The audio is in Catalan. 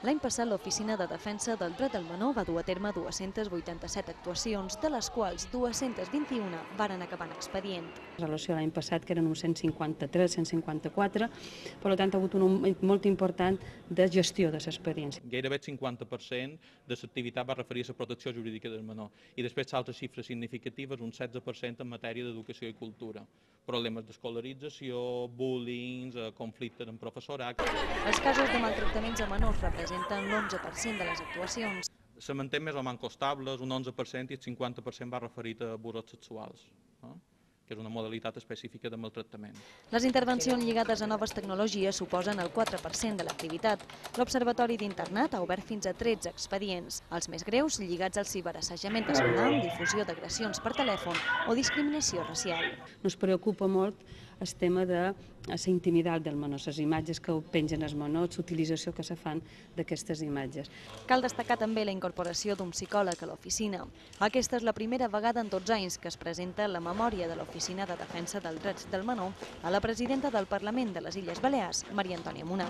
L'any passat, l'Oficina de Defensa del Dret del Menor va dur a terme 287 actuacions, de les quals 221 varen acabar en expedient. En relació a l'any passat, que eren uns 153, 154, per tant ha hagut un augment molt important de gestió de l'experiència. Gairebé el 50% de l'activitat va referir a la protecció jurídica del menor i després altres xifres significatives, un 16% en matèria d'educació i cultura. Problemes d'escolarització, bullying, conflictes amb professorat. Els casos de maltractaments a menors representen l'11% de les actuacions. Se manté més o menys costables, un 11% i el 50% va referit a abusos sexuals, que és una modalitat específica de maltractament. Les intervencions lligades a noves tecnologies suposen el 4% de l'activitat. L'Observatori d'Internat ha obert fins a 13 expedients. Els més greus lligats al ciberassajament escolar, difusió d'agressions per telèfon o discriminació racial. Ens preocupa molt el tema de la intimitat del menor, les imatges que pengen els menors, l'utilització que se fan d'aquestes imatges. Cal destacar també la incorporació d'un psicòleg a l'oficina. Aquesta és la primera vegada en 12 anys que es presenta la memòria de l'Oficina de Defensa dels Drets del Menor a la presidenta del Parlament de les Illes Balears, Maria Antònia Munà.